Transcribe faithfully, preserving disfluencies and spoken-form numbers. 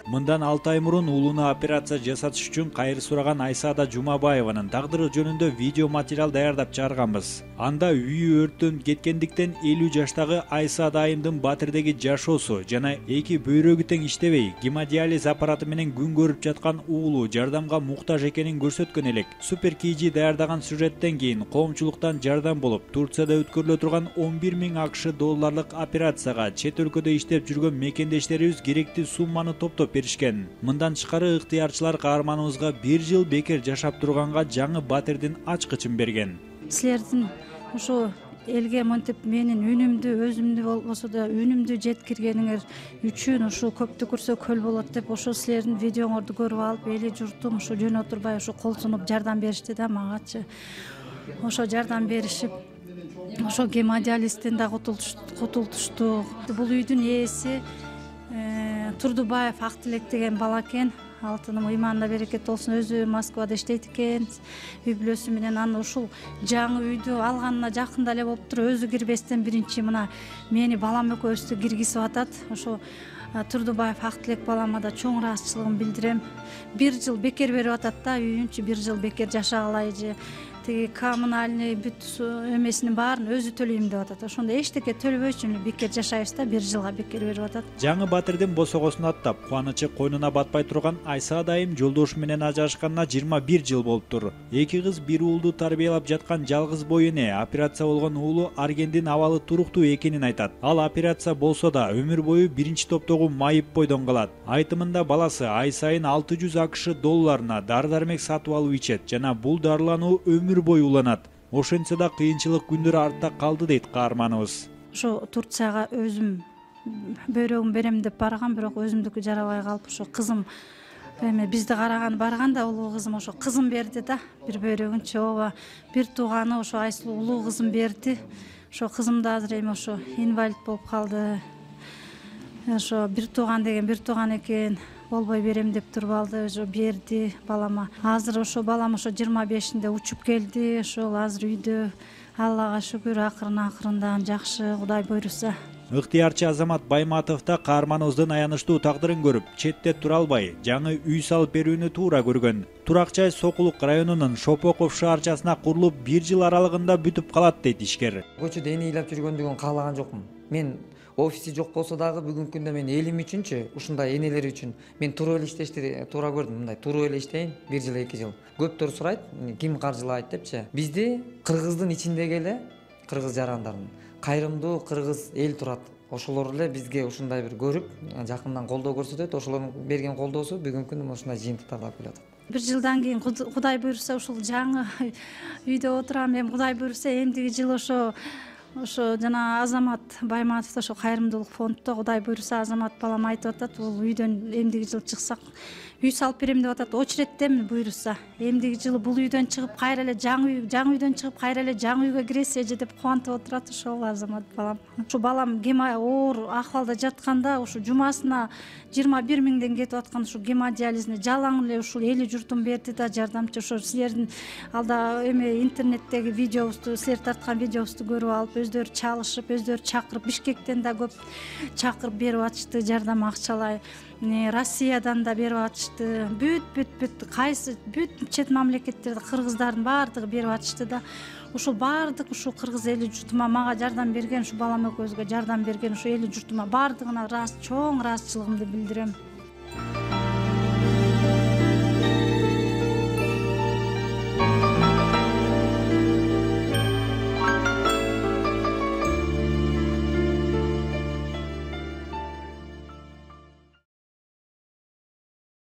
Мындан алты ай мурун уулуна операция жасатыш үчүн кайыр сураган Айсаада Жумабаеванын тагдыры жөнүндө видео материал даярдап чыгарганбыз. Анда үйү өрттөнүп кеткендиктен элүү жаштагы Айсаада айымдын Батирдеги жашоосу жана эки бөйрөгү тең иштебей, гемодиализ аппараты менен күн көрүп жаткан уулу жардамга муктаж экенин көрсөткөн элек. Супер Кийжи даярдаган сюжеттен кийин коомчулуктан жардам болуп, Турцияда өткөрүлө турган он бир миң ак ш долларлык операцияга чет өлкөдө иштеп жүргөн мекендештерибиз керектүү сумманы топтоп беришкен. Мындан тышкары ыктыярчылар каарманыбызга бир жыл бекер жашап турганга жаңы Батирдин ачкычын берген. Силердин ошо элге монтип менин үнүмдү, өзүмдү болбосо да үнүмдү жеткиргениңер үчүн ушул көптү көрсө көл болот деп ошо силердин видеоңорду көрүп алып, эли журтум ошо жөн отурбай ошо кол сунуп жардам беришти да магачы. Ошо жардам беришип, ошо гемодиализден да кутултушту. Бул үйдүн ээси Турдубаев Актилек деген бала экен. Алтыным ыйманында берекет болсун, өзү Москвада иштейт экен. Үй бүлөсү менен анан ушул жаңы үйдү алганына жакында эле болуп туруп, өзү кирбестен биринчи мына мени балам экөөбүздү киргизип атат. Ошо Турдубаев Актилек балама да чоң ыраазычылыгымды билдирем. Бир жыл бекер берип атат да, үйүнчү бир жыл бекер жашагалай же тиги коммунальный бүт эмесинин баарын өзү төлөйм деп атат. Ошондо эчтеке төлөбөй үчүн бекер жашайбыз да, бир жылга бекер берип атат. Жаңы Батирдин босогосун аттап, кубанычы койнуна батпай турган Айсаада айым жолдошу менен ажырашканына жыйырма бир жыл болуптур. Эки кыз бир уулду тарбиялап жаткан жалгыз бой эне операция болгон уулу Аргендин абалы туруктуу экенин айтат. Ал операция болсо да өмүр бою биринчи топтогу майып бойдон калат. Айтымында баласы ай сайын алты жүз ак ш долларына дары-дармек сатып алып ичет жана бул дарылануу өмүр бою уланат. Ошентсе да кыйынчылык күндөр артта калды дейт каарманыбыз. Ошо Турцияга өзүм бөйрөгүм берем деп барган, бирок өзүмдүкү жарабай калып, ошо кызым эме бизди караган барган да, улуу кызым ошо кызым берди да, бир бөйрөгүнчү. Ооба, бир тууганы ошо Айсулуу улуу кызым берди. Ошо кызым да азыр эми ошо инвалид болуп калды. Ошо бир тууган деген бир тууган экен. Болбой берем деп туруп алды, ошо берди балама. Азыр ошо балам ошо жыйырма бешинде учуп келди. Ошол азыр үйдө, Аллага шүгүр, акырын акырындан жакшы, Кудай буйруса. Ыктыярчы Азамат Байматов да каарманыбыздын аянычтуу тагдырын көрүп, четте тура албай, жаңы үй салып берүүнү туура көргөн. Туракчай Сокулук районунун Шопоков шаарчасына курулуп, бир жыл аралыгында бүтүп калат дейт ишкер. Көчөдө эне ыйлап жүргөндүгүн каалаган жокмун. Мен офиси жок болсо дагы бүгүнкү күндө мен элим үчүнчү, ушундай энелер үчүн мен туруп эле иштешти туура көрдүм. Мындай туруп эле иштейин, бир жыл эки жыл. Көптөр сурайт, ким каржылайт депчи. Бизди кыргыздын ичиндеги эле, кыргыз жарандардын кайрымдуу кыргыз эл турат. Ошолор эле бизге ушундай бир көрүп, жакындан колдоо көрсөтөт. Ошолордун берген колдоосу бүгүнкү күндө ушундай жыйынтыктарды алып келатат. Бир жылдан кийин Кудай буйруса ушул жаңы үйдө отурам. Эми Кудай буйруса эмдиги жыл ошо ошо жана Азамат Байматов ошо кайрымдуулук фонддо Кудай буйруса Азамат балам айтып атат, бул үйдөн эмдиги жыл чыксак үй салып берем деп атат. Очереттеми буйруса. Эмдиги жылы бул үйдөн чыгып кайра эле жаңы үй, жаңы үйдөн чыгып кайра эле жаңы үйгө киресе же деп кубантып отурат ошол Азамат балам. Ушу балам гема оор акыбалда жатканда ушу жумасына жыйырма бир миңден кетип аткан ушу гемодиализине жалаң эле ушул эли журтум берди да, жардамчы. Ошо силердин алда эме интернеттеги видеобузду, силер тарткан видеобузду көрүп алып, өздөрү чалышып, өздөрү чакырып, Бишкектен да көп чакырып берип атышты жардам акчалай. Россиядан да берип атышты. Бүт бүт бүт кайсы бүт чет мамлекеттерде кыргыздардын баардыгы берип атышты да. Ушул баардык ушул кыргыз эли журтума мага жардам берген, ушу балам экөөбүзгө жардам берген ушу эли журтума баардыгына чоң ыраазычылыгымды билдирем.